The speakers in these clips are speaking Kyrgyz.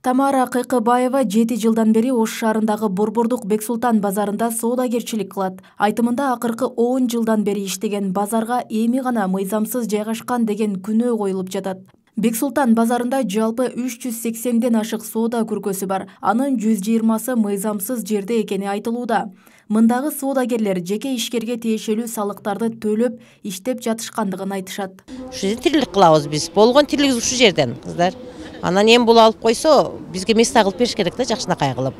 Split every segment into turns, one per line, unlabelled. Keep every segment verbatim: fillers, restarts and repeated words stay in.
Тамара Кыйкыбаева жети жылдан бери Ош шаарындагы Борбордук Бексултан базарында соодагерчилик кылат. Айтымында акыркы он жылдан бери иштеген базарга эми гана мыйзамсыз жайгашкан деген күнөө коюлуп жатат. Бексултан базарында жалпы үч жүз сексенден ашык соода күркөсү бар. Анын жүз жыйырмасы мыйзамсыз жерде экени айтылууда. Мындагы соодагерлер жеке ишкерге тиешелүү салыктарды төлөп иштеп жатышкандыгын айтышат.
Ушу жерде тирилик кылабыз биз. Болгон тирилигибиз ушу жерден, кыздар. Анан эми бул алып койсо, бизге места кылып бериш керек да, жакшынакай кылып.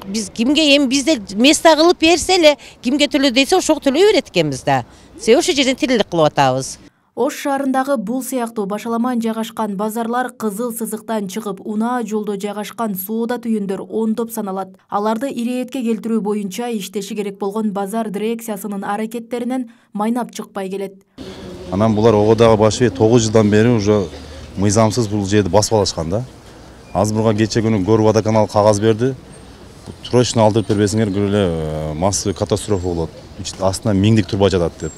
Биз кимге эми бизде места кылып берсе эле, кимге төлө десе ошого төлөй берет экенбиз да. Себеби ошол жерден тирилик кылып атабыз.
Ош шаарындагы бул сыяктуу башаламан жайгашкан базарлар кызыл сызыктан чыгып, унаа жолдо жайгашкан соода түйүндөр ондоп саналат. Аларды ирээтке келтирүү боюнча иштеши керек болгон базар дирекциясынын аракеттеринен майнап чыкпай келет.
Анан булар ого дагы башы тогуз жылдан бери уже мыйзамсыз бул жерди басып алышкан да. Азыр бурга кече күнү Гор водоканал кагаз берди. Срочно алдырып бербесиңер, көрөлө массовый катастрофа болот. Астына миңдик турба жатат деп.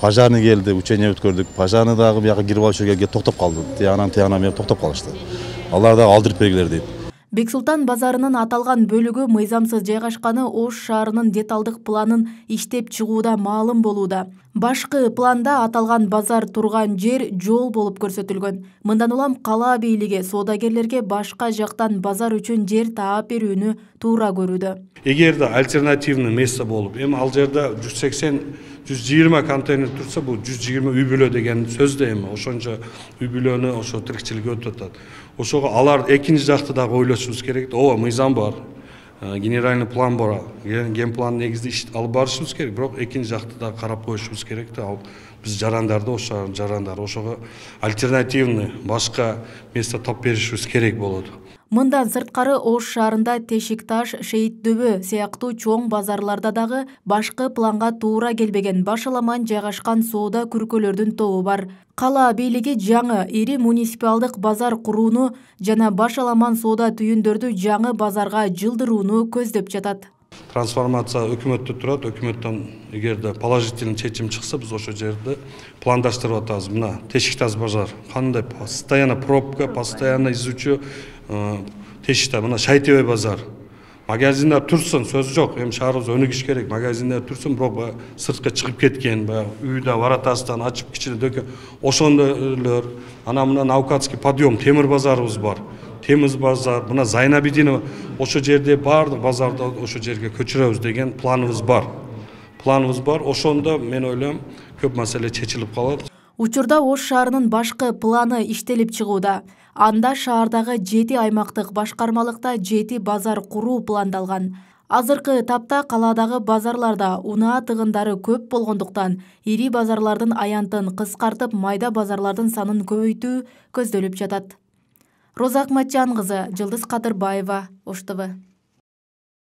Пожарный келди, учение өткөрдүк. Пожарный дагы бияка кирип алчу келге токтоп калды. Тиянан тиянан бери токтоп калышты. Алар дагы алдырып бергилер дейт.
Бексултан базарынын аталган бөлүгү мыйзамсыз жайгашканы Ош шаарынын деталдык планын иштеп чыгууда маалым болууда. Башкы планда аталган базар турган жер жол болуп көрсөтүлгөн. Мындан улам кала бийлиги соодагерлерге башка жактан базар үчүн жер таап берүүнү туура көрүүдө.
Эгерде альтернативный место болуп, эми ал жерде жүз сексен жүз жыйырма контейнер турса, бул жүз жыйырма үй бүлө деген сөз да эми. Ошончо үй бүлөнү ошо тирикчилик өтүп атат. Ошого алар экинчи жакты дагы ойлошубуз керек. Ооба, мыйзам бар. Генеральный план бар. Ген план негизде иш алып барышыбыз керек, бирок экинчи жакты да карап коюшубуз керек да. Ал биз жарандарды, ошо жарандар, ошого альтернативный башка место тап беришибиз керек болот.
Мындан сырткары Ош шаарында Тешик-Таш, Шейит-Дөбө сыяктуу чоң базарларда дагы башкы планга туура келбеген башаламан жайгашкан соода күркөлөрдүн тобу бар. Кала бийлиги жаңы ири муниципалдык базар курууну жана башаламан соода түйүндөрдү жаңы базарга жылдырууну көздөп жатат.
Трансформация өкмөттө турат, өкмөттөн эгерде положительный чечим чыкса, биз ошол жерде пландаштырып атабыз. Мына Тешик-Таш базар кандай постоянно пробка, постоянно изучу Тешикта, мына Шайтебей базар. Магазиндер турсун, сөз жок. Эми шаарыбыз өнүгүш керек. Магазиндер турсун, бирок сыртка чыгып кеткен, үйдө варатасынан ачып кичине дөкө ошондойлор. Анан мына Наукатский подъем темир базарыбыз бар. Темиз базар, мына Зайнабидинова ошо жерде баардык базарды ошо жерге көчүрөбүз деген планыбыз бар. Планыбыз бар. Ошондо мен ойлойм, көп маселе чечилип калат.
Учурда Ош шаарынын башкы планы иштелип чыгууда. Анда шаардагы жети аймактык башкармалыкта жети базар куруу пландалган. Азыркы тапта каладагы базарларда унаа тыгындары көп болгондуктан ири базарлардын аянтын кыскартып, майда базарлардын санын көбөйтүү көздөлүп жатат. Роза Акматжан кызы, Жылдыз Кадырбаева, Ош ТВ.